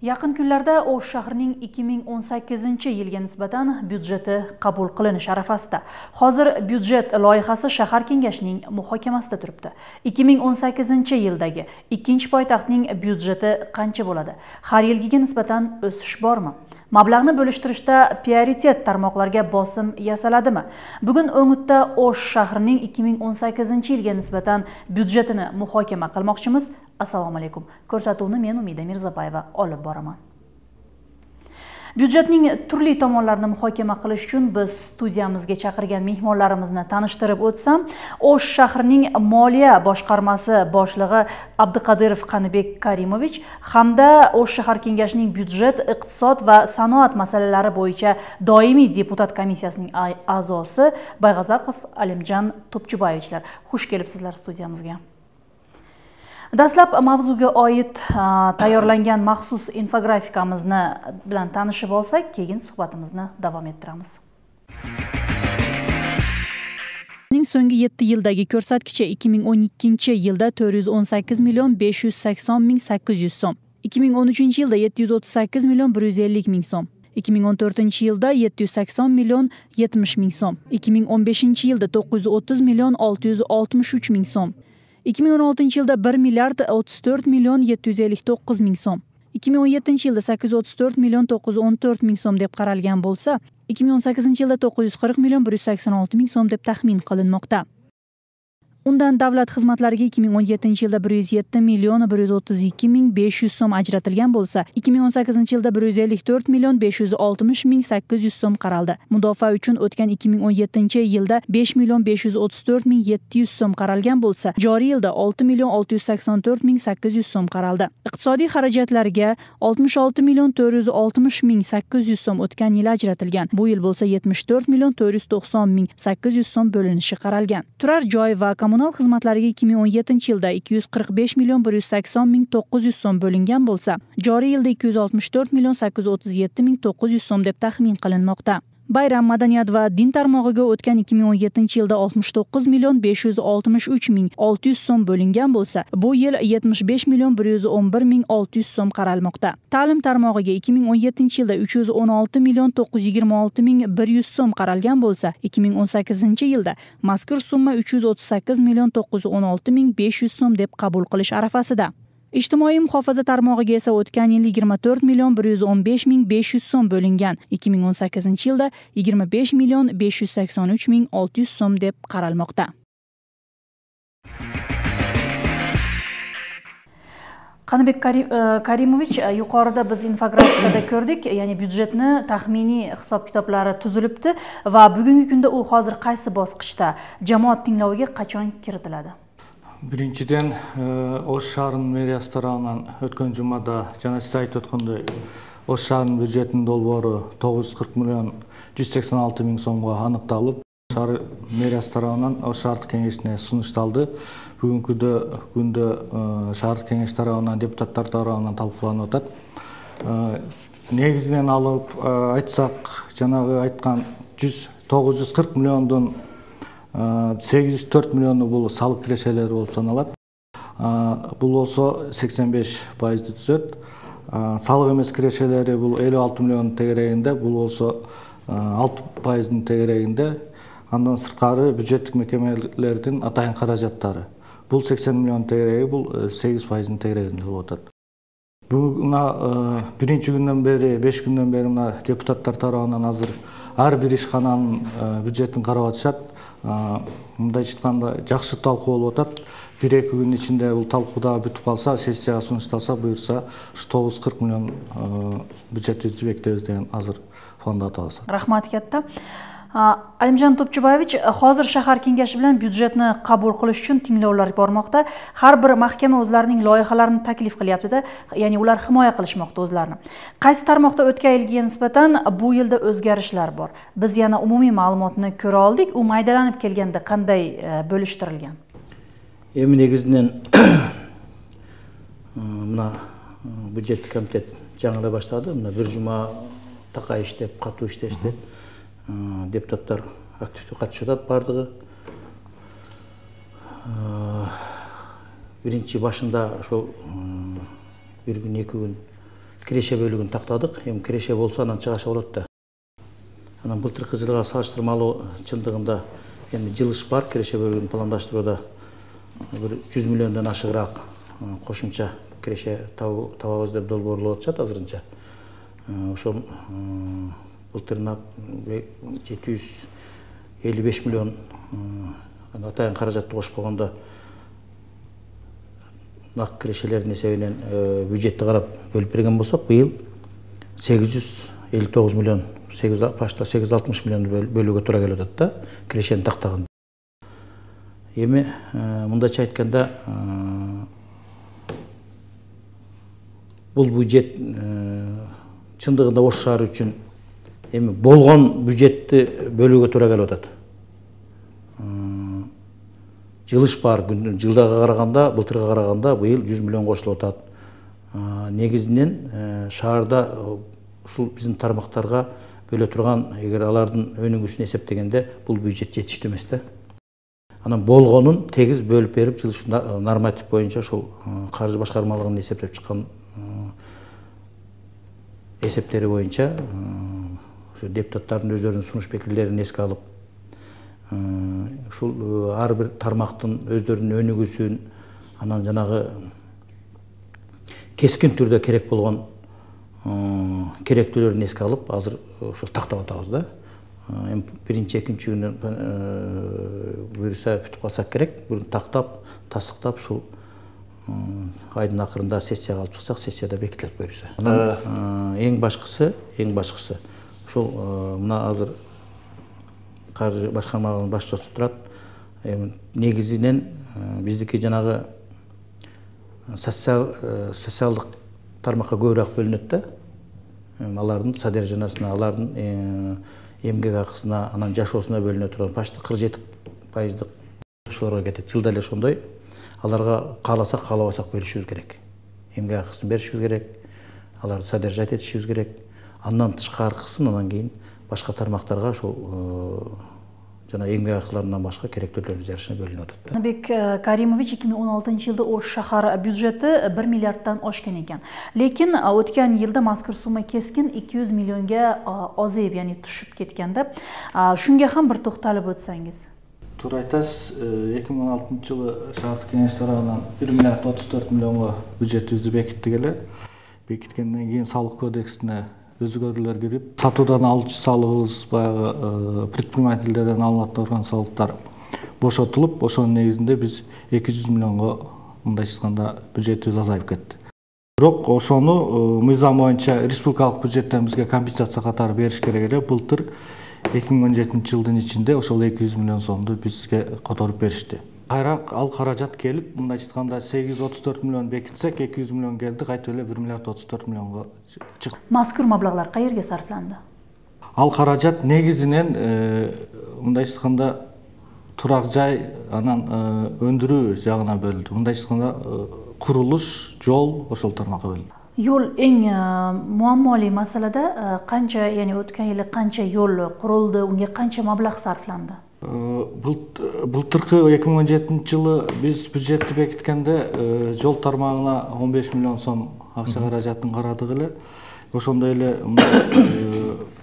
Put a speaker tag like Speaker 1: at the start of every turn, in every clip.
Speaker 1: Yaqin kunlarda Osh shahrining 2018-yilga nisbatan byudjeti qabul qilinish arafasida. Hozir byudjet loyihasi shahar kengashining muhokamasida turibdi. 2018-yildagi ikkinchi poytaxtning byudjeti qancha bo'ladi? Har yilgiga nisbatan o'sish bormi? Mablag'ni bo'lishtirishda prioritet tarmoqlarga bosim yasaladimi? Bugun O'ngutda Osh shahrining 2018-yilga nisbatan byudjetini muhokama qilmoqchimiz. Assalomu alaykum. Ko'rsatuvni men Umida Mirzabayeva olib boraman. Byudjetning turli tomonlarini muhokama qilish uchun biz studiyamizga chaqirgan mehmonlarimizni tanishtirib o'tsam, Osh shahrining moliya boshqarmasi boshlig'i Abduqadirov Qanibek Karimovich hamda Osh shahar kengashining byudjet, iqtisod va sanoat masalalari bo'yicha doimiy deputat komissiyasining a'zosi Bayg'azaqov Alimjon Topchubayevichlar. Xush kelibsizlar studiyamizga. Dastlab mavzuga oid tayyorlangan maxsus infografikamizni bilan tanishib olsak, keyin suhbatimizni davom ettiramiz. So'nggi 7 yildagi ko'rsatkichi 2012-yilda 418 million 580 ming 800 so'm, 2013-yilda 738 million 150 ming so'm, 2014-yilda 780 million 70 ming so'm, 2015-yilda 930 million 663 ming so'm, 2016-yilda 1 milliard 34 million 759 ming so'm, 2017-yilda 834 million 914 ming so'm deb qaralgan bo'lsa, 2018-yilda 940 million 186 ming so'm deb taxmin qilinmoqda. Undan davlat xizmatlariga 2017-yilda 107 million 132 ming 500 so'm ajratilgan bo'lsa, 2018-yilda 154 million 560 ming 800 so'm qaraldi. Mudofaa uchun o'tgan 2017-yilda 5 million 534 ming 700 so'm qaralgan bo'lsa, joriy yilda 6 million 684 ming 800 so'm qaraldi. Iqtisodiy xarajatlarga 66 million 460 ming 800 so'm o'tgan yil ajratilgan. Bu yil bo'lsa 74 million 490 ming 800 so'm bo'linishi qaralgan. Turar joy va kommunal xizmatlariga 2017-yilda 245 million 180 ming 900 so'm bo'lingan bo'lsa, joriy yilda 264 million 837 ming 900 so'm deb taxmin qilinmoqda. Bayram, madaniyat va din tarmog'iga o'tgan 2017-yilda 69 million 563 ming 600 so'm bo'lingan bo'lsa, bu yil 75 million 111 ming 600 so'm qaralmoqda. Ta'lim tarmog'iga 2017-yilda 316 million 926 ming 100 so'm qaralgan bo'lsa, 2018-yilda mazkur summa 338 million 916 ming 500 so'm deb qabul qilish arafasida. Ijtimoiy muhofaza tarmog'iga esa o'tgan yil 24 million 115 ming 500 so'm bo'lingan, 2018-yilda 25 million 583 ming 600 so'm deb qaralmoqda. Qanibek Karimovich, yuqorida biz infografikada ko'rdik, ya'ni byudjetni taxminiy hisob-kitoblari tuzilibdi va bugungi kunda u hozir qaysi bosqichda, jamoat tingloviga qachon kiritiladi?
Speaker 2: Birinchidan, Osh shahrining meriyasi tomonidan o'tgan jumada jana siz aytib o'tgandek, Osh shahrining byudjetining dolbori 940 million 186 ming so'mga aniqtalib, shahar meriyasi tomonidan Osh shahar kengashiga sunishtaldi. Bugungi kunda shahar kengashi tomonidan deputatlar tomonidan talqilанып o'tadi. Negizidan olib aytsak, janaga aytgan 940 milliondan 804 millionu бұл салық кирешелери болып саналат. Бұл болса 85% түзөт. Салық емес кирешелери бұл 56 миллион тегерегинде, бұл болса 6% тегерегинде. Андан сырткары бюджеттик мекемелердин атайын каражаттары. Бұл 80 миллион тегереги, бұл 8% тегерегинде болуп атат. Мына биринчи күндөн бери, 5 күндөн бери мына депутаттар тарабынан азыр ар бир ишкананын бюджетин карап атышат. Мындай айтканда жакшы талкуу болуп атат. 1-2 күн ичинде бул талкууда бүтүп калса, сессияга сунушталса, буюрса 940 миллион бюджетибизди бекитебиз деген азыр планда атабыз.
Speaker 1: Рахмат кетти. Alimjon Topchubayevich, hozir shahar kengashi bilan byudjetni qabul qilish uchun tinglovlar bormoqda. Har bir mahkama o'zlarining loyihalarini taklif qilyapti-da, ya'ni ular himoya qilishmoqda o'zlarini. Qaysi tarmoqda o'tgan yilga nisbatan bu yilda o'zgarishlar bor? Biz yana umumiy ma'lumotni ko'ra oldik. U maydalanib kelganda qanday bo'lishtirilgan?
Speaker 3: Endi negizdan mana byudjet komitet жаңылай баштады. Мына bir жума такай иштеп, катуу иштешти. Депутаттар активдүү катышып атат бардыгы. Биринчи башында ошол 1 күн 2 күн киреше бөлүгүн тактадык. Эми киреше болсо анан чыгаша болот да. Анан былтыркы жылга салыштырмалуу чындыгында эми жылыш бар, киреше бөлүгүн пландаштырууда бир 100 миллиондон ашыгыраак кошумча киреше табабыз деп долбоорлоп атышат азырынча. Ошол былтырына 755 миллион атайын каражатты кошпогондо нак кирешелердин эсебинен бюджетти карап бөлүп берген болсок, быйыл 859 миллион, почти 860 миллион бөлүүгө туура келип атат да, кирешени тактаган. Эми мындайча айтканда, бул бюджет чындыгында Ош шаары үчүн эми болгон бюджетти бөлүүгө туура келип атат. Жылыш бар, жылдага караганда, былтырга караганда быйыл 100 миллион кошулуп атат. Негизинен шаарда ушул биздин тармактарга бөлө турган, эгер алардын өнүгүүсүн эсептегенде, бул бюджет жетиштүү эмес да. Анан болгонун тегиз бөлүп берип, жылыш норматив боюнча ушул каржы башкармалыгынын эсептеп чыккан эсептери боюнча депутаттардын өздөрүнүн сунуш пикирлерин эске алып, ушул ар бир тармактын өздөрүнүн өнүгүүсүн, анан жанагы кескин түрдө керек болгон керектүүлөрүн эске алып, азыр ушул тактап атабыз да. Эми биринчи, экинчи күнү буюрса бүтүп калсак керек, буну тактап, тастыктап ушул айдын акырында сессияга алып чыксак, сессияда бекитилет буюрса. Анан эң башкысы ушул мына азыр каржы башкармалыгынын башчысы турат. Негизинен биздики жанагы социалдык тармакка көбүрөөк бөлүнөт да. Алардын содержаниясына, алардын эмгек акысына, анан жашоосуна бөлүнө турган почти 47% ошолорго кетет. Жылда эле ошондой. Аларга кааласак, каалабасак беришибиз керек. Эмгек акысын беришибиз керек. Аларды содержать этишибиз керек. Андан тышкаркысын анан кийин башка тармактарга ошол жана эмгек акыларынан башка керектүүлөрдүн жарышына бөлүнүп атат.
Speaker 1: Жаныбек Каримович 2016-жылда Ош шаар бюджети 1 миллиарддан ашкан экен. Лекин өткөн жылда мазкур сумма кескин 200 миллионго азайып, яны түшүп кеткен да. Шунга ham бир токтолуп өтсөңүз.
Speaker 2: Туура айтасыз, 2016-жылы шаардык кеңеш тарабынан 1 миллиард 34 миллионго бюджетибизди бекиттик эле. Бекиткенден кийин салык кодексине өзгөрүүлөр кирип, сатуудан алуучу салыгыбыз, баягы предпринимательдерден алынат турган салыктар бошотулуп, ошонун негизинде биз 200 миллионго мындайча айтканда бюджетибиз азайып кетти. Бирок ошону мыйзам боюнча республикалык бюджеттен бизге компенсация катары бериш керек эле. Былтыр 2017-жылдын ичинде ошол 200 миллион сомду бизге которуп беришти. Кайра ал каражат келип, мындайча айтканда 834 миллион бекитсек, 200 миллион келди, кайтып эле 1 миллиард 34 миллионго чыкты.
Speaker 1: Мазкур маблагдар каерге сарфланды?
Speaker 2: Ал каражат негизинен мындайча айтканда турак жай, анан өндүрүү жагына бөлүндү. Мындайча айтканда курулуш, жол ошол тармакка бөлүндү.
Speaker 1: Yo'l eng muammoli masalada qancha, ya'ni o'tgan yili qancha yo'l qurildi, unga qancha mablag' sarflandi?
Speaker 2: Былтыркы 2017-жылы биз бюджетти бекиткенде жол тармагына 15 миллион сом акча каражатын карадык эле. Ошондой эле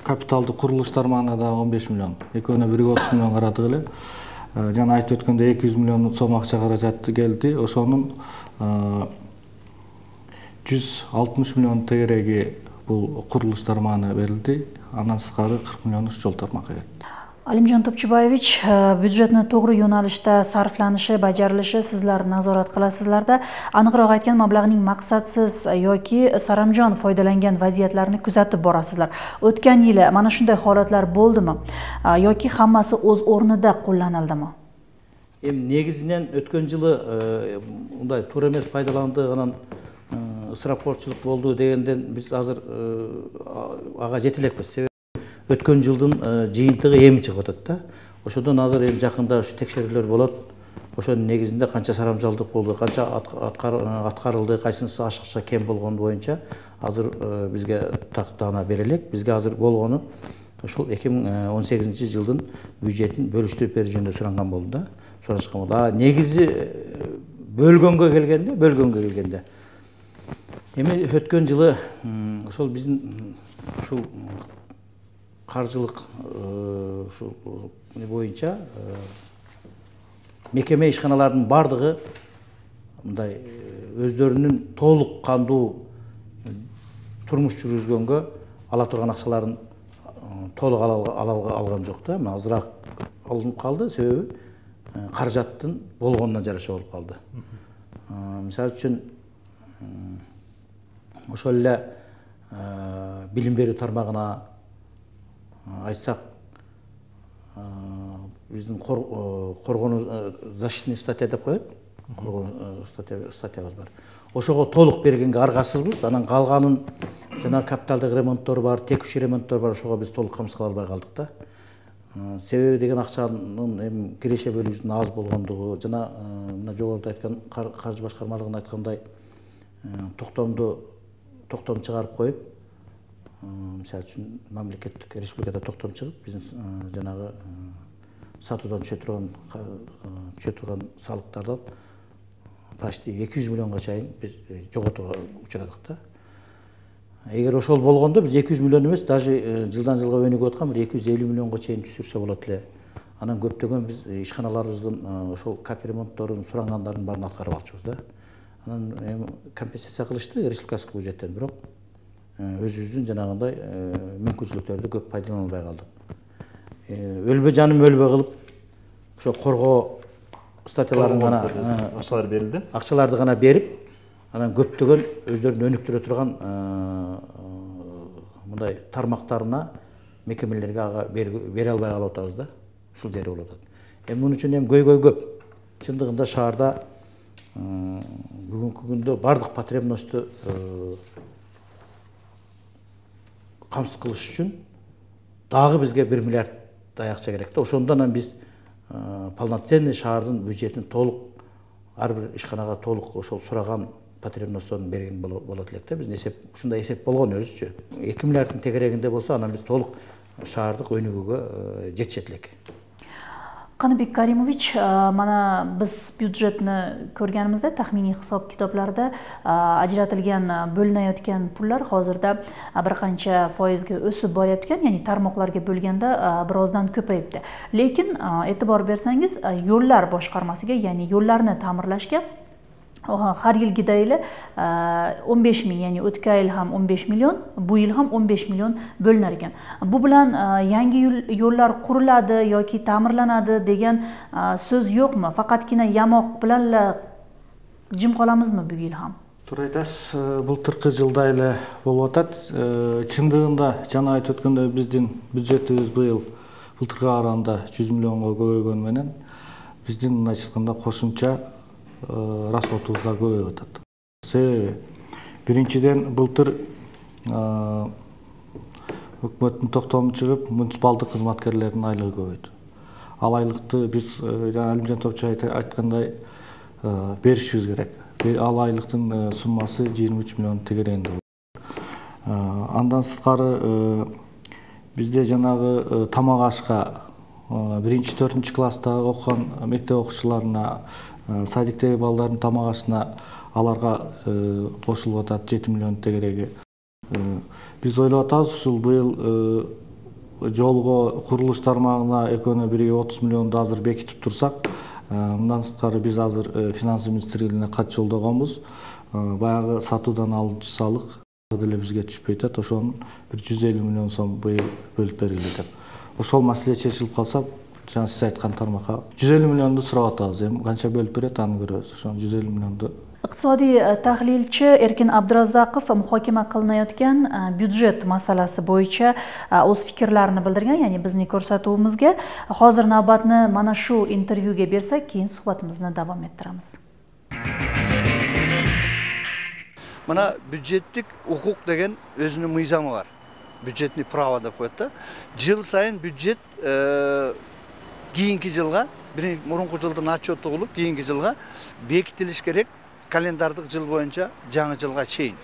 Speaker 2: капиталдык курулуш тармагына да 15 миллион. Экөөнө бирге 30 миллион карадык эле. Жана айтып өткөндөй 200 миллион сом акча каражаты келди. Ошонун 160 миллион тегереги бул курулуш тармагына берилди. Андан сырткары 40 миллион жол тармакка кетти.
Speaker 1: Алимжан Топчубаевич, бюджетni to'g'ri yo'nalishda sarflanishi, bajarilishi sizlar nazorat qilasizlarda. Aniqroq aytgan mablag'ning maqsadsiz yoki saramjon foydalangan vaziyatlarni kuzatib borasizlar. O'tgan yili mana shunday holatlar bo'ldimi yoki hammasi o'z o'rnida qo'llanildimi?
Speaker 3: Эми негизинен өткөн жылы мындай туура эмес пайдаланды, анан ысырапкорчулук болду дегенден биз азыр ага жете элекпиз. Өткөн жылдын жыйынтыгы эми чыгып атат да. Ошодон азыр эми жакында ушу текшерүүлөр болот. Ошонун негизинде канча сарамжалдык болду, канча аткарылды, кайсынысы ашыкча кем болгону боюнча азыр бизге тактана берилет. Бизге азыр болгону ошол 2018-жылдын бюджетин бөлүштүрүп берүү жөнүндө суранган болду да. Сурашкан болду. Негизи бөлгөнгө келгенде Эми өткөн жылы ошол биздин ушул каржылык ушул боюнча мекеме ишканалардын бардыгы мындай өздөрүнүн толук кандуу турмуш жүргүзгөнгө ала турган акчаларын толук алган жок да. Азыраак алынып калды, себеби каражаттын болгонуна жараша болуп калды. Мисалы үчүн ошол эле билим берүү тармагына айтсак, биздин коргонуу защитный статья деп коет. Статьябыз бар. Ошого толук бергенге аргасызбыз. Анан калганын жана капиталдык ремонттор бар, текущий ремонттор бар, ошого биз толук камсыз кыла албай калдык да. Себеби деген акчанын эми киреше бөлүүсүнүн аз болгондугу жана мына жогоруда айткан каржы башкармалыгынын айткандай токтом чыгарып коюп, мисалы үчүн мамлекеттик республикада токтом чыгып, биздин жанагы сатуудан түшө турган салыктардан почти 200 миллионго чейин биз жоготууга учурадык да. Эгер ошол болгондо биз 200 миллион эмес, даже жылдан жылга өнүгүп аткан бир 250 миллионго чейин түшүрсө болот эле. Анан көптөгөн биз ишканаларыбыздын ошол капремонтторун сурангандардын баарын аткарып алчубуз да. Анан эми компенсация кылышты республикалык бюджеттен, бирок өзүбүздүн жанагындай мүмкүнчүлүктөрдү көп пайдалана албай калдык. Өлбө жаным өлбө кылып ошо коргоо статьяларын гана
Speaker 4: акчалар берилди.
Speaker 3: Акчаларды гана берип, анан көптөгөн өздөрүн өнүктүрө турган мындай тармактарына, мекемелерге ага бере албай калып атабыз да. Ушул жери болуп атат. Эми муну үчүн көйгөй көп. Чындыгында шаарда бүгүнкү күндө бардык потребностьту камсыз кылыш үчүн дагы бизге 1 миллиард акча керек да. Ошондон биз полноценный шаардын бюджетин толук ар бир ишканага толук ошол сураган потребностьтон берген болот элек да. Биздин ушундай эсеп болгон өзүчө. 2 миллиарддын тегерегинде болсо, анан биз толук шаардык өнүгүүгө жетишет элек.
Speaker 1: Каныбек Каримович, mana biz byudjetni ko'rganimizda taxminiy hisob kitoblarda ajratilgan bo'linayotgan pullar hozirda bir qancha foizga o'sib boryotgan, ya'ni tarmoqlarga bo'lganda birozdan ko'payibdi. Lekin e'tibor bersangiz, yo'llar boshqarmasiga, ya'ni yo'llarni ta'mirlashga har yilgidayli 15 ming, ya'ni o'tgan yil ham 15 million, bu yil ham 15 million bo'linar ekan. Bu bilan yangi yo'llar quriladi yoki ta'mirlanadi degan so'z yo'qmi? Faqatgina yamoq bilan jim qolamizmi bu yil ham?
Speaker 2: Туура айтасыз, былтыркы жылда эле болуп атат. Чындыгында жана айтып өткөндөй биздин бюджетибиз быйыл былтыркыга караганда 100 миллионго көбөйгөнү менен биздин мындайча айтканда кошумча расходубуз да көбөйүп атат. Себеби биринчиден былтыр өкмөттүн токтому чыгып, муниципалдык кызматкерлердин айлыгы көбөйдү. Ал айлыкты биз жана Алимжан Топчу айткандай беришибиз керек. Ал айлыктын суммасы 23 миллион тегерегинде. Андан сырткары бизде жанагы тамак ашка 1-4 класстагы окуган мектеп окуучуларына, садиктеги балдардын тамак ашына аларга кошулуп атат 7 миллион тегереги. Биз ойлоп атабыз, ушул быйыл жолго курулуш тармагына экөөнө бирге 30 миллионду азыр бекитип турсак, мындан сырткары биз азыр финансы министрлигине кат жолдогонбуз. Баягы сатуудан алынчу салык деле бизге түшпөй атат. Ошонун бир 150 миллион сом быйыл бөлүп бергиле деп. Ошол маселе чечилип калса, жана сиз айткан тармакка 150 миллионду сурап атабыз. Эми канча бөлүп берет, аны көрөбүз. Ошон 150 миллионду.
Speaker 1: Iqtisodiy tahlilchi Erkin Abdurazzoqov muhokama qilinayotgan byudjet masalasi bo'yicha o'z fikrlarini bildirgan, ya'ni bizning ko'rsatuvimizga. Hozir navbatni mana shu intervyuga bersak, keyin suhbatimizni davom ettiramiz.
Speaker 5: Mana byudjettик укук деген өзүнүн мыйзамы бар. Бюджетный право деп коет да. Жыл сайын бюджет кийинки жылга, мурунку жылдын отчету кылып, кийинки жылга бекитилиш керек. Календардык жыл боюнча жаңы жылга чейин.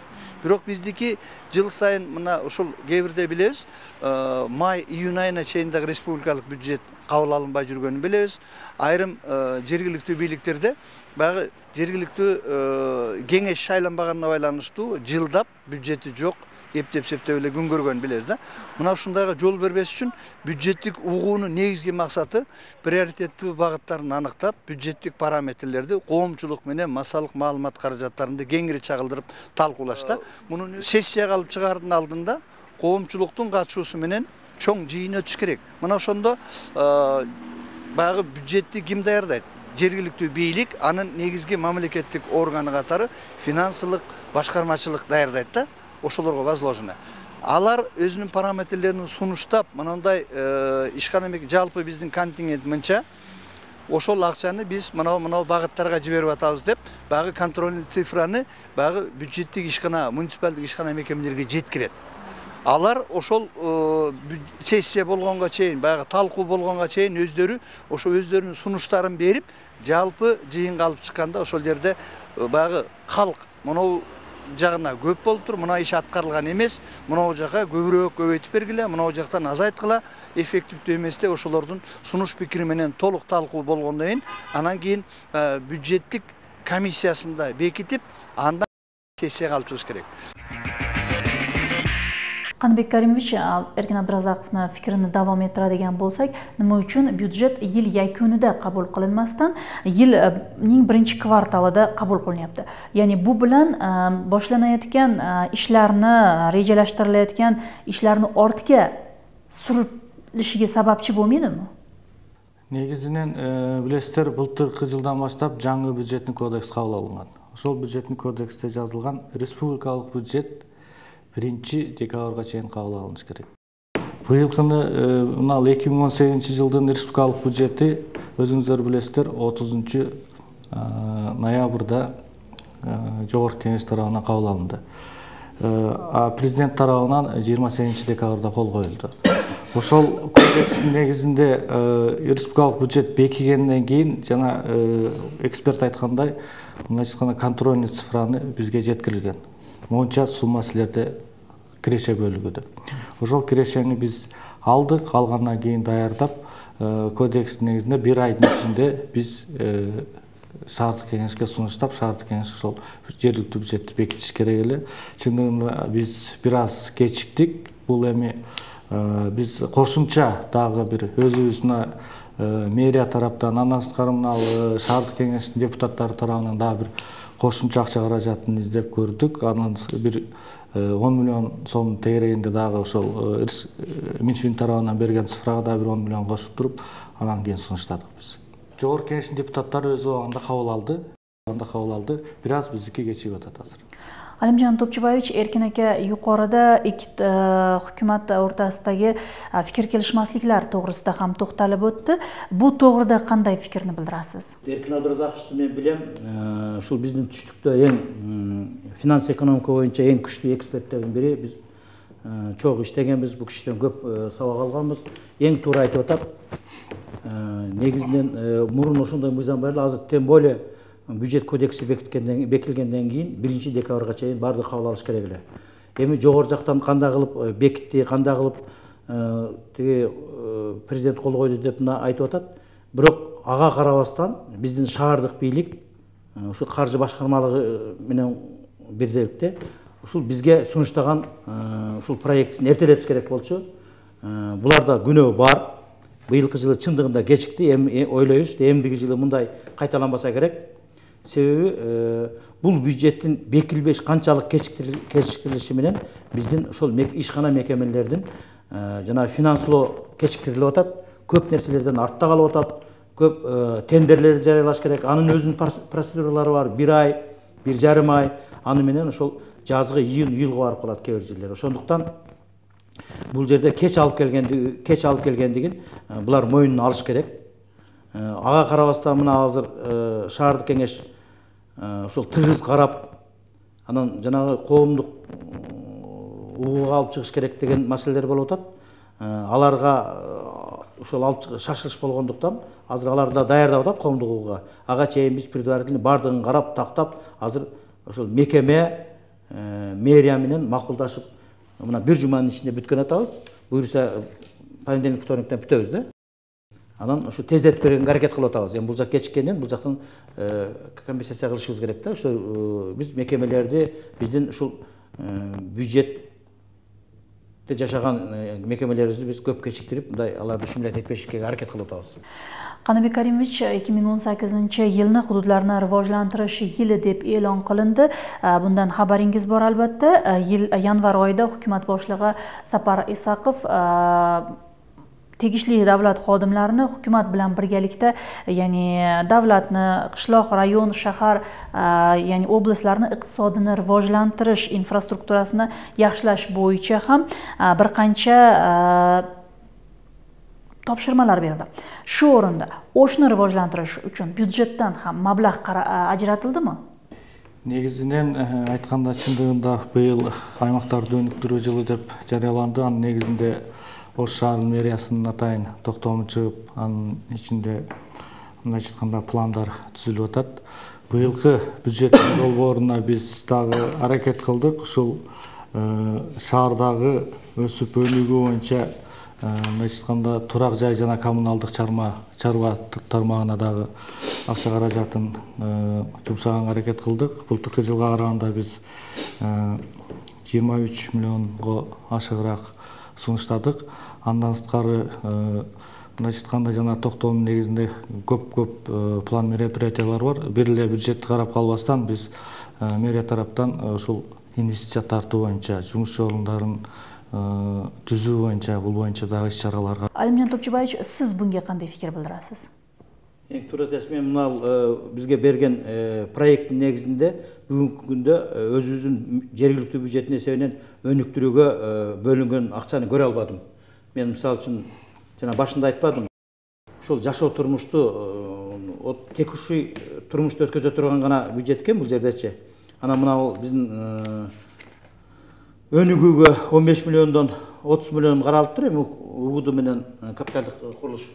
Speaker 5: Бирок биздики жыл сайын мына ушул кээ бирде билебиз, май-июнь айына чейин дагы республикалык бюджет кабыл алынбай жүргөнүн билебиз. Айрым жергиликтүү бийликтерде баягы жергиликтүү кеңеш шайланбаганына байланыштуу жылдап бюджети жок, эптеп-септеп эле күн көргөнүн билебиз да. Мына ушундайга жол бербеш үчүн бюджеттик угуунун негизги максаты приоритеттүү багыттарын аныктап, бюджеттик параметрлерди коомчулук менен массалык маалымат каражаттарында кеңири чагылдырып талкуулаш да. Мунун сессияга алып чыгаардын алдында коомчулуктун катышуусу менен чоң жыйын өтүш керек. Мына ошондо баягы бюджетти ким даярдайт? Жергиликтүү бийлик, анын негизги мамлекеттик органы катары финансылык башкармачылык даярдайт да. Ошолорго возложено. Алар өзүнүн параметрлерин сунуштап, мындай ишкана жалпы биздин контингент мынча, ошол акчаны биз мынау багыттарга жиберип атабыз деп, баягы контрольный цифраны баягы бюджеттик ишкана, муниципалдык ишкана мекемелерге жеткирет. Алар ошол сессия болгонго чейин, баягы талкуу болгонго чейин өздөрү ошо өздөрүнүн сунуштарын берип, жалпы жыйынга алып чыкканда ошол жерде баягы калк мынау жагына көп болуп тур, мына иш аткарылган эмес, мынау жака көбүрөөк көбөйтүп бергиле, мынау жактан азайткыла, эффективдүү эместе ошолордун сунуш пикири менен толук талкуу болгондон кийин, анан кийин бюджеттик комиссиясында бекитип, андан сессияга алып чыгыш керек.
Speaker 1: Каныбек Каримович, Эркин Абдыразаковдун фикирин давам этирadigan болсак, nima үчүн бюджет yil yakунida qabul qilinmasdan yilning birinchi kvartalida qabul qilinyapti? Ya'ni bu bilan boshlanayotgan ishlarni, rejalashtirilayotgan ishlarni ortga surilishiga sababchi bo'lmaydimi?
Speaker 2: Негизинен билесиздер, былтыркы жылдан баштап жаңы бюджеттик кодекс кабыл алынган. Ошол бюджеттик кодексте жазылган республикалык бюджет 1-декабрга чейин кабыл алыныш керек. Быйылкыны мына 2018 жылдын республикалык бюджети өзүңүздөр билесиздер 30 ноябрда жогорку кеңеш тарабынан кабыл алынды. Президент тарабынан 28 декабрда кол коюлду. Ошол кодекстин негизинде республикалык бюджет бекигенден кийин жана эксперт айткандай, мындайча айтканда контрольный цифраны бизге жеткирилген. Монча сумма силерде киреше бөлүгүдө. Ошол кирешени биз алдык, алгандан кийин даярдап, кодекстин негизинде 1 айдын ичинде биз шаардык кеңешке сунуштап, шаардык кеңеш ошол жергиликтүү бюджетти бекитиш керек эле. Чындыгында биз бир аз кечиктик. Бул эми биз кошумча дагы бир өзүбүздүн мэрия тараптан, андан сырткары мына шаардык кеңештин депутаттары тарабынан дагы бир кошумча акча каражатын издеп көрдүк. Анан бир 10 миллион сом тегерегинде дагы ошол Минфин тарабынан берген цифрага дагы бир 10 миллион кошуп туруп, анан кийин сунуштадык биз. Жогорку кеңештин депутаттары өз убагында кабыл алды. Бир аз биздики кечигип атат азыр.
Speaker 1: Алимжан Топчубаевич, Эркин ака юқорida ikki hukumat o'rtasidagi fikr kelishmasliklar to'g'risida ham to'xtalib o'tdi. Bu to'g'rida qanday fikrni bildirasiz?
Speaker 3: Эркин Абдыразаковду мен билем, ушул биздин түштүктө эң финанс экономика боюнча эң күчтүү эксперттердин бири. Биз чогуу иштегенбиз, бул кишиден көп сабак алганбыз. Эң туура айтып атат. Негизинен мурун ошондой мыйзам бар эле, азыр тем более бюджет кодекси бекилгенден кийин 1 декабрга чейин баардыгы кабыл алыш керек эле. Эми жогору жактан кандай кылып бекитти, кандай кылып тиги президент кол койду деп мына айтып атат. Бирок ага карабастан биздин шаардык бийлик ушу каржы башкармалыгы менен бирдикте ушул бизге сунуштаган ушул проектисин эртелетиш керек болчу. Буларда күнөө бар. Быйылкы жылы чындыгында кечикти, эми ойлойбуз, эмдиги жылы мындай кайталанбаса керек. Себеби бул бюджеттин бекилбеш канчалык кечиктирилиши менен биздин ошол ишкана мекемелердин жана финанслоо кечиктирилип атат, көп нерселерден артта калып атат, көп тендерлерди жарыялаш керек. Анын өзүнүн процедуралары бар, 1 ай, 1,5 ай, аны менен ошол жазгы июлга барып калат кээ бир жерлер. Ошондуктан бул жерде кеч алып келгендигин булар мойнуна алыш керек. Ага карабастан мына азыр шаардык кеңеш ошол тыгыз карап, анан жанагы коомдук угууга алып чыгыш керек деген маселелер болуп атат. Аларга ошол алып шашылыш болгондуктан азыр аларды даярдап атат коомдук угууга. Ага чейин биз предварительно бардыгын карап, тактап, азыр ошол мекеме мэрия менен макулдашып, мына 1 жуманын ичинде бүткөн атабыз. Буюрса понедельник, вторниктен бүтөбүз да. Анан ушу тездетип бергенге аракет кылып атабыз. Эми бул жак кечиккенден бул жактан компенсация кылышыбыз керек да. Ошо биз мекемелерди биздин ушул бюджетте жашаган мекемелерибизди биз көп кечиктирип, мындай аларды ушумлай этпешикке аракет кылып атабыз.
Speaker 1: Каныбек Каримович, 2018-yilni hududlarni rivojlantirish yili deb e'lon qilindi. Bundan xabaringiz bor albatta. Yil yanvar oyida hukumat boshlig'i Sapar Isaqov tegishli davlat xodimlarini hukumat bilan birgalikda, ya'ni davlatni, qishloq, rayon, shahar, ya'ni oblastlarni iqtisodini rivojlantirish, infrastrukturasini yaxshilash bo'yicha ham bir qancha topshirmalar berdi. Shu o'rinda o'shni rivojlantirish uchun byudjetdan ham mablag' ajratildimi?
Speaker 2: Негизинен айтканда, чындыгында быйыл аймактарды өнүктүрүү жылы деп жарыяланды. Анын негизинде Ош шаарынын мэриясынын атайын токтому чыгып, анын ичинде мындайча айтканда пландар түзүлүп атат. Быйылкы бюджет долбооруна биз дагы аракет кылдык. Ушул шаардагы өсүп өнүгүү боюнча мындайча айтканда турак жай жана коммуналдык чарба тармагына дагы акча каражатын жумшаганга аракет кылдык. Былтыркы жылга караганда биз 23 миллионго ашыгыраак сунуштадык. Андан сырткары мындайча айтканда жана токтоонун негизинде көп план мероприятиялар бар. Бир эле бюджетти карап калбастан биз мэрия тараптан ушул инвестиция тартуу боюнча, жумуш орундарын түзүү боюнча, бул боюнча дагы иш-чараларга.
Speaker 1: Алимжан Топчубаевич, сиз bunga кандай пикир билдирасиз?
Speaker 3: Эң туура айтасыз. Мен мына бизге берген проекттин негизинде бүгүнкү күндө өзүбүздүн жергиликтүү бюджеттин эсебинен өнүктүрүүгө бөлүнгөн акчаны көрө албадым. Мен мисалы үчүн жана башында айтпадым. Ушул жашоо турмушту текущий турмушту өткөзө турган гана бюджет экен бул жердечи. Анан мына биздин өнүгүүгө 15 миллиондон 30 миллион каралыптыр. Эми УГУД менен капиталдык курулуш.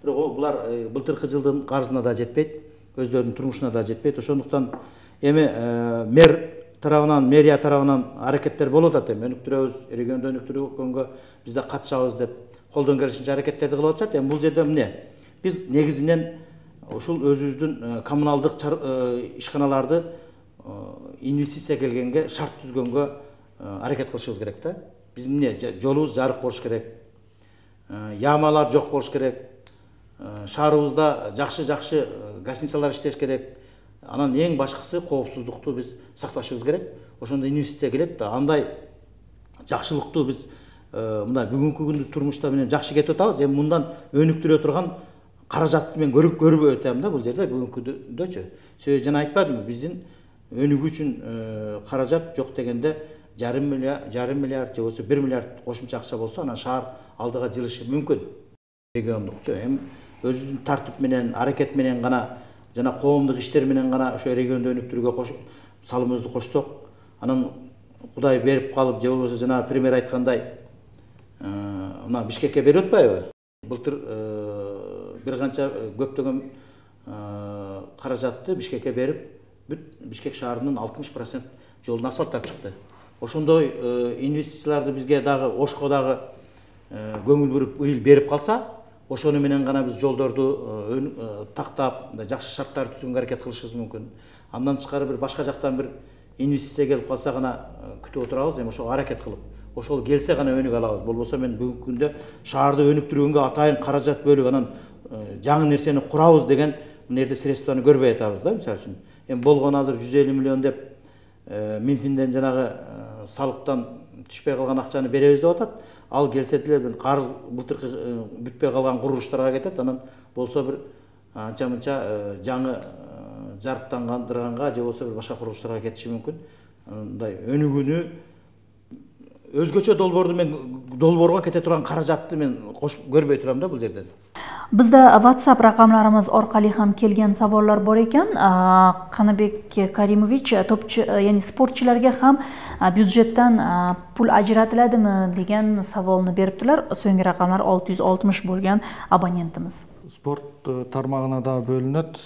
Speaker 3: Бирок булар былтыркы жылдын карызына да жетпейт, өздөрүнүн турмушуна да жетпейт. Ошондуктан эми мэр тарабынан, мэрия тарабынан аракеттер болуп атат. Эми өнүктүрөбүз, регионду өнүктүрүүгө биз да катышабыз деп колдон келишинче аракеттерди кылып атышат. Эми бул жерде эмне? Биз негизинен ушул өзүбүздүн коммуналдык ишканаларды инвестиция келгенге, шарт түзгөнгө аракет кылышыбыз керек да. Биздин эмне? Жолубуз жарык болуш керек. Ямалар жок болуш керек. Шаарыбызда жакшы гостиницалар иштеш керек. Анан эң башкысы коопсуздукту биз сакташыбыз керек. Ошондо инвестиция келет да. Андай жакшылыкту биз мындай бүгүнкү күндү турмушта менен жакшы кетип атабыз. Эми мындан өнүктүрө турган каражатты мен көрүп өтөм да бул жерде бүгүнкүдөчү. Себеби жана айтпадымбы, биздин өнүгүү үчүн каражат жок дегенде жарым миллиард же болбосо 1 миллиард кошумча акча болсо, анан шаар алдыга жылышы мүмкүн. Региондукчу эми өзүбүздүн тартип менен, аракет менен гана жана коомдук иштер менен гана ошо регионду өнүктүрүүгө салымыбызды кошсок, анан Кудай берип калып, же болбосо жана пример айткандай мына Бишкекке берип атпайбы? Былтыр бир канча көптөгөн каражатты Бишкекке берип, Бишкек шаарынын 60% жолун асфальттап чыкты. Ошондой инвестицияларды бизге дагы Ошко дагы көңүл буруп, ыйыл берип калса, ошону менен гана биз жолдорду тактап, жакшы шарттар түзгөнгө аракет кылышыбыз мүмкүн. Андан тышкары бир башка жактан бир инвестиция келип калса гана күтүп отурабыз, эми ошого аракет кылып. Ошол келсе гана өнүгө алабыз. Болбосо мен бүгүнкү күндө шаарды өнүктүргөнгө атайын каражат бөлүп, анан жаңы нерсени курабыз деген мына жерде средстваны көрбөй атабыз да, мисалы үчүн. Эми болгону азыр 150 миллион деп Минфинден жанагы салыктан түшпөй калган акчаны беребиз деп атат. Ал келсе деле карыз былтыркы бүтпөй калган курулуштарга кетет. Анан болсо бир анча-мынча жаңы жарыктандырганга же болбосо бир башка курулуштарга кетиши мүмкүн. Мындай өнүгүүнү өзгөчө долбоорго кете турган каражатты мен көрбөй турам да бул жерден.
Speaker 1: Bizda WhatsApp raqamlarimiz orqali ham kelgan savollar bor ekan. Qanibek Karimovich, ya'ni sportchilarga ham byudjetdan pul ajratiladimi degan savolni beribdilar. So'nggi raqamlar 660 bo'lgan abonentimiz.
Speaker 2: Sport tarmagына да бөлүнөт.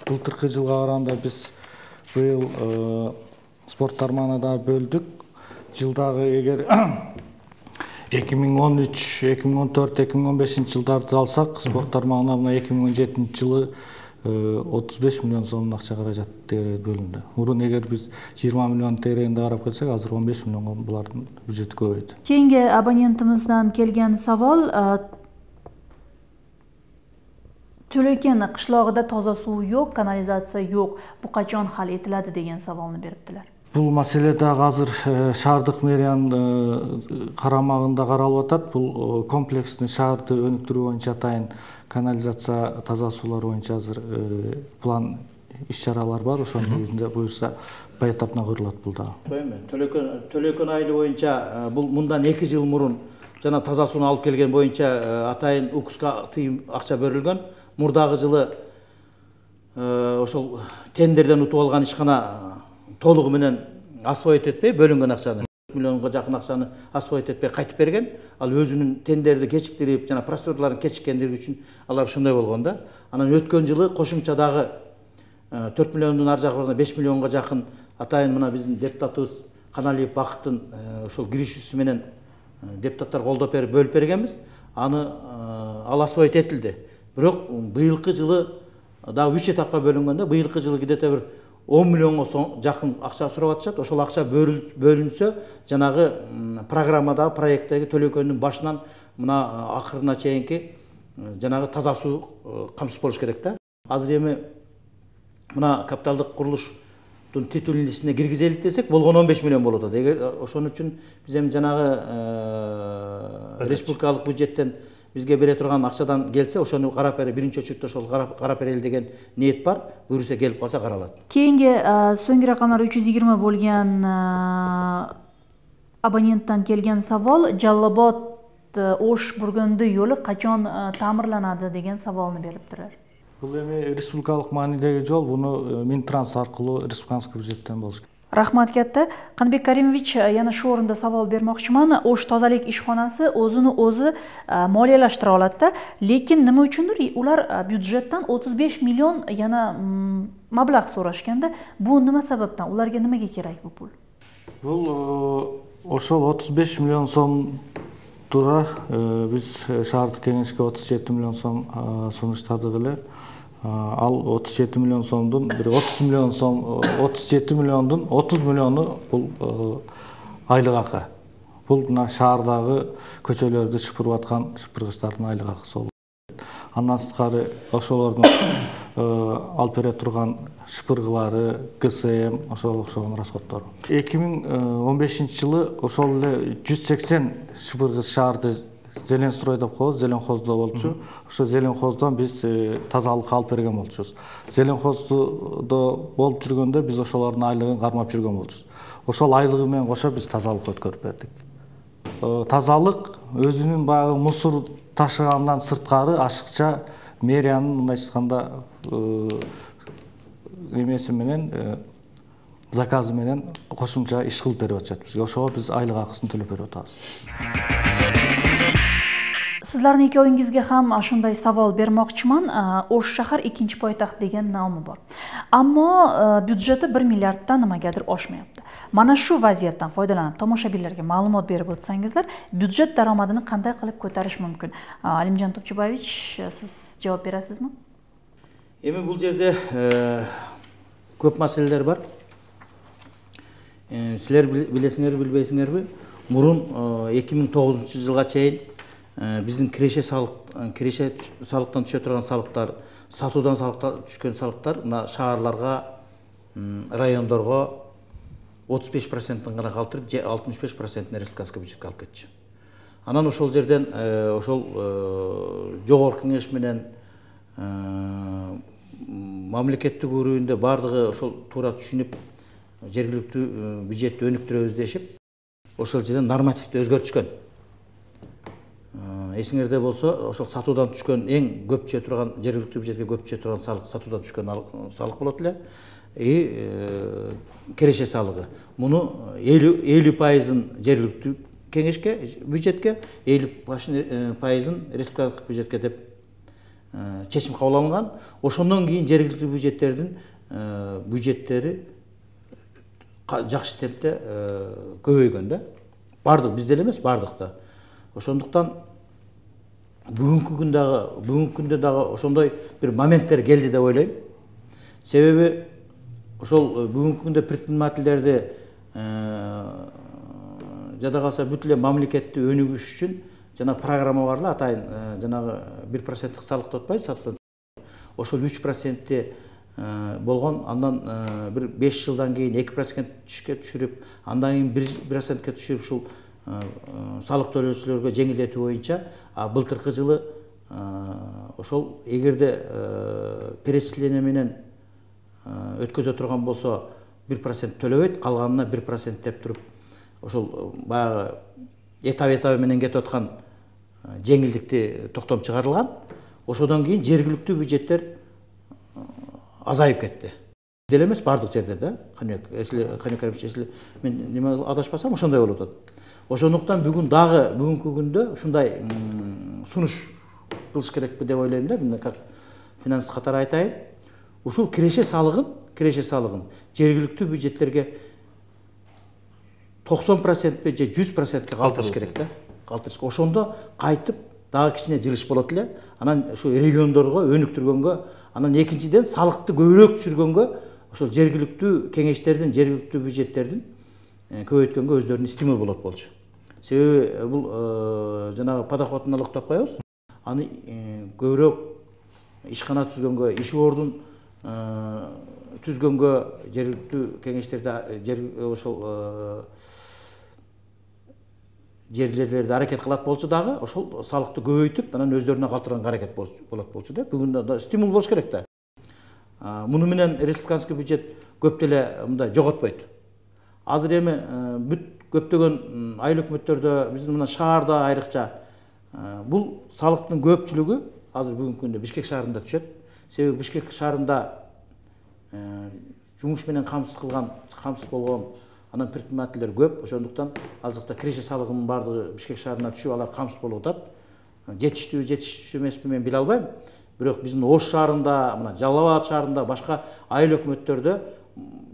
Speaker 2: Былтыркы жылга караганда биз быйыл спорт тармагына да бөлдүк. Жылдагы 2013, 2014, 2015 жылдарды алсак, спорт тармагына мына 2017 жылы 35 миллион сомдун акча каражат бөлүндү. Мурун эгер биз 20 миллион тегерегинде карап келсек, азыр 15 миллионго булардын бюджети көбөйдү.
Speaker 1: Кийинки абонентимизден келген savol, Төлөкен кышлогунда таза суу жок, канализация жок. Бу качан хал этилadi деген саволну бериптилер.
Speaker 2: Бул маселе дагы азыр шаардык мэриянын карамагында каралып атат. Бул комплекстин шаарды өнүктүрүү боюнча атайын канализация, таза суулар боюнча азыр план иш-чаралар бар. Ошонун негизинде буюрса баятаптан курулат бул дагы.
Speaker 3: Төлөкөн айылы боюнча бул мындан 2 жыл мурун жана таза сууну алып келген боюнча атайын УКСка тыйым акча берилген. Мурдагы жылы ошол тендерден утуп алган ишкана толугу менен освоить этпей бөлүнгөн акчаны 4 миллионго жакын акчаны освоить этпей кайтып берген. Ал өзүнүн тендерди кечиктирип жана процедураларын кечиккендиги үчүн алар ошондой болгон да. Анан өткөн жылы кошумча дагы 4 миллиондун ар жагы 5 миллионго жакын атайын мына биздин депутатыбыз Каналиев Бакыттын ошол киришүүсү менен депутаттар колдоп берип бөлүп бергенбиз. Аны ал освоить этилди. Бирок быйылкы жылы дагы 3 этапка бөлүнгөндө быйылкы жылы где-то бир 10 миллионго жакын акча сурап атышат. Ошол акча бөлүнсө, жанагы программадагы проекттеги Төлөкөндүн башынан мына акырына чейинки жанагы таза суу камсыз болуш керек да. Азыр эми мына капиталдык курулуштун титулун листине киргизелик десек, болгон 15 миллион болот. Эгер ошон үчүн биз эми жанагы республикалык бюджеттен бизге бере турган акчадан келсе, ошону карап бере биринчи очередде ошол карап берели деген ниет бар. Буюрса келип калса каралат.
Speaker 1: Кийинки соңку ракамдар 320 болгон абоненттен келген savol, Жаллобод Ош Бургөндөй жолу качан таамирланады деген саволну бериптирер.
Speaker 2: Бул эми республикалык маанидеги жол, буну Минтранс аркылуу республикалык бюджеттен болуш керек.
Speaker 1: Рахмат кетти. Канбек Каримович, yana shu o'rinda savol bermoqchiman. Osh tozalik ishxonasi o'zini o'zi moliyalashtira oladi-da, lekin nima uchundir ular byudjetdan 35 million yana mablag' so'rashganda, bu nima sababdan? Ularga nimaga kerak bu pul?
Speaker 2: Bul ошол 35 million so'm тура биз шаардык кеңешке 37 million so'm сунуштадык эле. Ал 37 миллион сомдун бир 30 миллион сом, 37 миллиондун 30 миллиону бул айлык акы. Бул мына шаардагы көчөлөрдү шыпырып аткан шыпыргычтардын айлык акысы болот. Андан сырткары ошолордун алып бере турган шыпыргылары, ГСМ, ошого окшогон расходтору. 2015 жылы ошол эле 180 шыпыргыч шаарды Зеленстрой деп коебуз, Зеленхоздо болчу. Ошо Зеленхоздон биз тазалыкка алып берген болчубуз. Зеленхоздо болуп жүргөндө биз ошолордун айлыгын кармап жүргөн болчубуз. Ошол айлыгы менен кошо биз тазалыкка өткөрүп бердик. Тазалык өзүнүн баягы мусор ташыгандан сырткары ашыкча мэриянын мындайча айтканда эмеси менен заказы менен кошумча иш кылып берип атышат бизге. Ошого биз айлык акысын төлөп берип атабыз.
Speaker 1: Sizlarning ikkovingizga ham shunday savol bermoqchiman. Osh shahar ikkinchi poytaxt degan nomi bor. Ammo byudjeti 1 milliarddan nimagadir oshmayapti. Mana shu vaziyatdan foydalanib tomoshabinlarga ma'lumot berib o'tsangizlar, byudjet daromadini qanday qilib ko'tarish mumkin? Alimjon Topchubovich, siz javob berasizmi?
Speaker 3: Эми бул жерде көп маселелер бар. Силер билесиңерби, билбейсиңерби? Мурун 2009 жылга чейин биздин киреше салыктан түшө турган салыктар, сатуудан түшкөн салыктар мына шаарларга, райондорго 35%-тен гана калтырып, 65%-ин республикалык бюджетке алып кетчү. Анан ошол жерден ошол жогорку кеңеш менен мамлекеттик өрүүндө бардыгы ошол туура түшүнүп, жергиликтүү бюджетти өнүктүрөбүз дешип, ошол жерден нормативди өзгөртүшкөн. Эсиңерде болсо, ошол сатуудан түшкөн эң көп түшө турган, жергиликтүү бюджетке көп түшө турган салык сатуудан түшкөн салык болот эле. Киреше салыгы. Муну 50% жергиликтүү кеңешке, бюджетке, 50% республикалык бюджетке деп чечим кабыл алынган. Ошондон кийин жергиликтүү бюджеттердин бюджеттери жакшы темпте көбөйгөн да. Бардык, бизде эле эмес, бардыкта. Ошондуктан бүгүнкү күндө дагы ошондой бир моменттер келди деп ойлойм. Себеби ошол бүгүнкү күндө предпринимательдерди жада калса бүт эле мамлекетти өнүгүш үчүн жана программа бар эле, атайын жанагы 1% салыкты отпайбы, ошол 3% болгон, андан бир 5 жылдан кийин 2%ке түшүрүп, андан кийин 1%ке түшүрүп ушул салык төлөөчүлөргө жеңилдетүү боюнча былтыркы жылы ошол эгерде перечисление менен өткөзө турган болсо 1% төлөбөйт, калганына 1% деп туруп ошол баягы этап менен кетип аткан жеңилдикти токтом чыгарылган. Ошодон кийин жергиликтүү бюджеттер азайып кетти. Деле эмес, бардык жерде да. Каныбек Каримович, если мен неме адашпасам, ошондой болуп атат. Ошондуктан бүгүнкү күндө ушундай сунуш кылыш керекпи деп ойлойм да. Мен как финанс катары айтайын. Ушул киреше салыгын жергиликтүү бюджеттерге 90% же 100%ке калтырыш керек да. Ошондо кайтып дагы кичине жылыш болот эле. Анан ушу региондорго өнүктүргөнгө, анан экинчиден салыкты көбүрөөк түшүргөнгө ошол жергиликтүү кеңештердин, жергиликтүү бюджеттердин көбөйткөнгө өздөрүнүн стимул болот болчу. Себеби бул жанагы подоход налогдоп коебуз. Аны көбүрөөк ишкана түзгөнгө, иш ордун түзгөнгө жергиликтүү кеңештерде ошол жерлерде аракет кылат болчу дагы, ошол салыкты көбөйтүп, анан өздөрүнө калтырганга аракет болот болчу да. Бүгүн да стимул болуш керек да. Муну менен республиканский бюджет көп деле мындай жоготпойт. Азыр эми бүт көптөгөн айыл өкмөттөрдө, биздин мына шаарда айрыкча бул салыктын көпчүлүгү азыр бүгүнкү күндө Бишкек шаарында түшөт. Себеби Бишкек шаарында жумуш менен камсыз болгон анан предпринимательдер көп. Ошондуктан ал жакта киреше салыгынын баардыгы Бишкек шаарына түшүп, алар камсыз болуп атат. Жетиштүү эмеспи мен биле албайм. Бирок биздин Ош шаарында, мына Жалал Абад шаарында, башка айыл өкмөттөрдө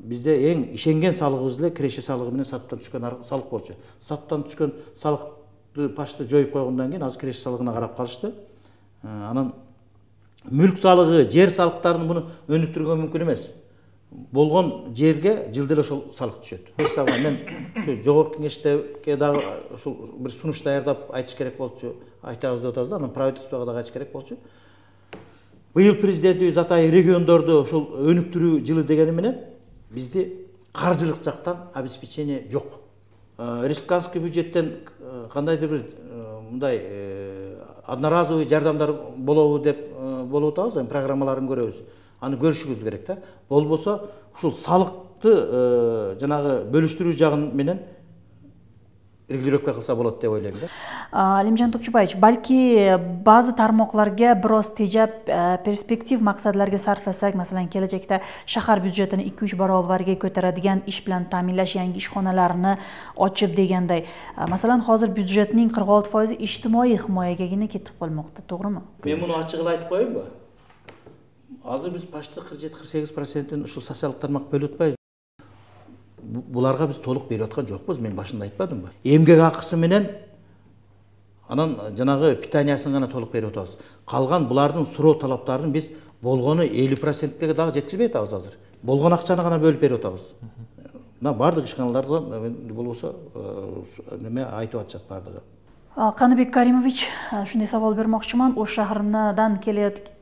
Speaker 3: бизде эң ишенген салыгыбыз эле киреше салыгы менен сатыптан түшкөн салык болчу. Сатыптан түшкөн салыкты пашты жоюп койгондон кийин азыр киреше салыгына карап калышты. Анан мүлк салыгы, жер салыктарын буну өнүктүргөнгө мүмкүн эмес. Болгон жерге жылда эле ошол салык түшөт. Мен ошо жогорку кеңешке дагы ошол бир сунуш даярдап айтыш керек болчу, айтабыз деп атабыз да, анан правительствого дагы айтыш керек болчу. Быйыл президентибиз атай региондорду ошол өнүктүрүү жылы дегени менен бизди каржылык жактан обеспечение жок. Республиканский бюджеттен кандайдыр бир мындай одноразовый жардамдар болобу деп болуп атабыз, программаларын көрөбүз. Аны көрүшүбүз керек да. Болбосо ушул салыкты жанагы бөлүштүрүү жагын менен регулировка кылса болот деп ойлойм да.
Speaker 1: Алимжан Топчубаевич, балки базы тармокларга бирос тежеп, перспектив максатларга сарфласак, маселен, келечекте шахар бюджетин 2-3 баробарга көтөрөдүгөн иш менен тааминлаш, yangi ишканаларны ачып дегендей. Маселен, азыр бюджеттин 46% иҗтимаий химаяга гана кетип калмакта, тоогруму?
Speaker 3: Мен муну ачык айтып коеюнбу? Азыр биз почти 47-48% ушул социалдык тармак бөлүп атпайбыз. Буларга биз толук берип аткан жокпуз, мен башында айтпадымбы? Эмгек акысы менен анан жанагы питаниясын гана толук берип атабыз. Калган булардын суроо талаптарын биз болгону 50%ге дагы жеткизбей атабыз азыр. Болгон акчаны гана бөлүп берип атабыз. Мына бардык ишканалардан болбосо неме айтып атышат бардыгы.
Speaker 1: Каныбек Каримович, ушундай сабал бермокчумун.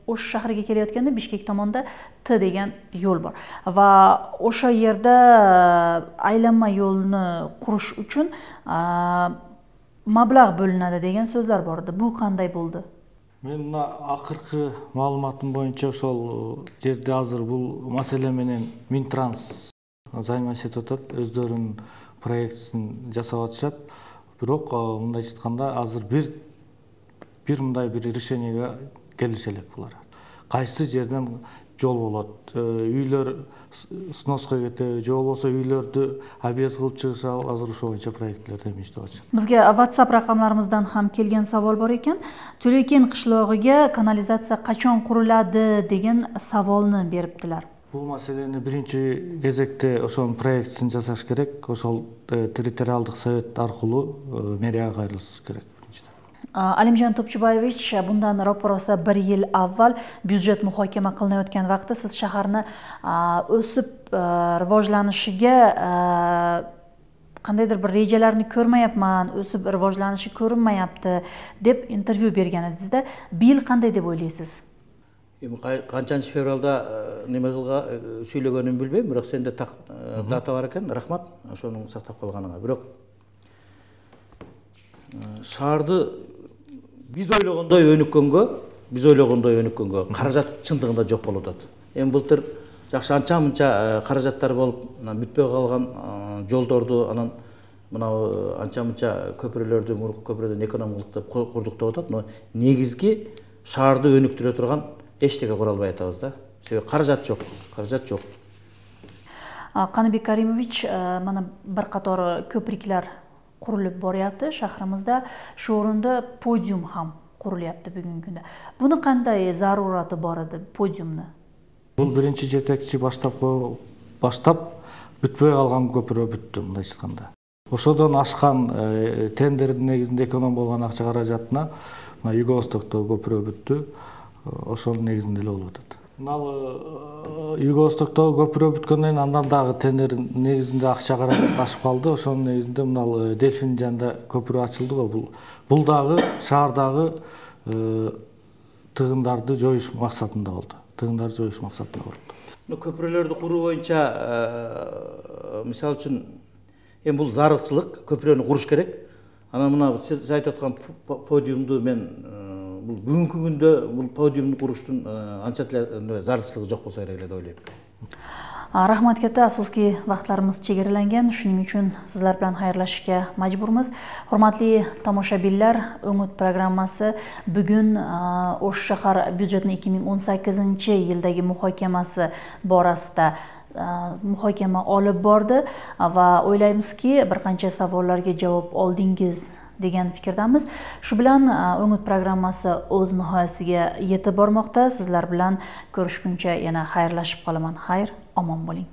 Speaker 1: Ош шаарыга келеткенде Бишкек томонда Т деген жол бар. Ва ошо жерде айланма жолуну куруш үчүн маблаг бөлүнөдү деген сөздөр бар. Бул кандай болду?
Speaker 2: Мен мына акыркы маалыматым боюнча ошол жерде азыр бул маселе менен Минтранс займашып атат, өздөрүнүн проектисин жасап атышат. Бирок мындай айтканда азыр бир мындай бир решениеге келише элек булар. Кайсы жерден жол болот, үйлөр сноска кетеби, же болбосо үйлөрдү объезд кылып чыгышабы, азыр ошо боюнча проектлерди иштеп атышат.
Speaker 1: Бизге WhatsApp ракамдарыбыздан ham келген сабол бар экен. Төлөйкен кышлогуга канализация качан курулады деген саболну бериптилер.
Speaker 2: Бул маселени биринчи кезекте ошонун проектисин жасаш керек. Ошол территориалдык совет аркылуу мэрияга кайрылыш керек.
Speaker 1: Алимжан Топчубаевич, bundan ro'parosa 1 yil avval byudjet muhokama qilinayotgan vaqtda siz shaharni o'sib rivojlanishiga qandaydir bir rejalarni ko'rmayapman, o'sib rivojlanishi ko'rinmayapti deb intervyu bergan edingizda. Bu yil qanday deb o'ylaysiz?
Speaker 3: Qanchанчы fevralda nima сөйлөгөнүмдү билбейм, бирок сенде дата бар экен. Рахмат ошону сактап калганыңа. Бирок шаарды биз ойлогондой өнүккөнгө каражат чындыгында жок болуп атат. Эми былтыр жакшы анча-мынча каражаттар болуп, бүтпөй калган жолдорду, анан мынау анча-мынча көпүрөлөрдү, мурунку көпүрөдөн экономикалык деп курдук деп атат, но негизги шаарды өнүктүрө турган эчтеке кура албай атабыз да. Себеби каражат жок.
Speaker 1: Каныбек Каримович, мана бир катар көпүрөклөр курулуп барыпты шаарыбызда. Шу орунда подиум ham курулупты бүгүнкү күндө. Буну кандай зарураты бар эди подиумну?
Speaker 2: Бул биринчи жетекчи баштап бүтпөй калган көпүрө бүттү, мындай айтканда. Ошодон ашкан тендердин негизинде эконом болгон акча каражатына Юго-Востокто көпүрө бүттү. Ошонун негизинде эле болуп атат. Мына Юго-Востокто көпүрө бүткөндөн кийин андан дагы тендер негизинде акча каражат ашып калды. Ошонун негизинде мына Дельфин жанында көпүрө ачылды го. Бул дагы шаардагы тыгындарды жоюш максатында болду.
Speaker 3: Көпүрөлөрдү куруу боюнча мисалы үчүн эми бул зарылчылык, көпүрөнү куруш керек. Анан мына сиз айтып аткан подиумду мен бул бүгүнкү күндө бул подиумду куруштун анча деле зарылчылыгы жок болсо керек эле деп ойлойм.
Speaker 1: Рахмат кетти, афсуски вакытларыбыз чегерленген. Шуning үчүн сизлер менен хайырлашышка мажбурмуз. Урматтуу тамошабинлер, Өңүт программасы бүгүн Ош шаар бюджетинин 2018-жылдагы мухокамасы борасында мухокама алып барды ва ойлойбузки бир канча саволларга жооп алдыңыз деген фикирдамыз. Шу билан Өңүт программасы өз ниһаясиге yetib bormoqda. Sizlar bilan ko'rishguncha yana xayrlashib qolaman. Xayr, omon bo'ling.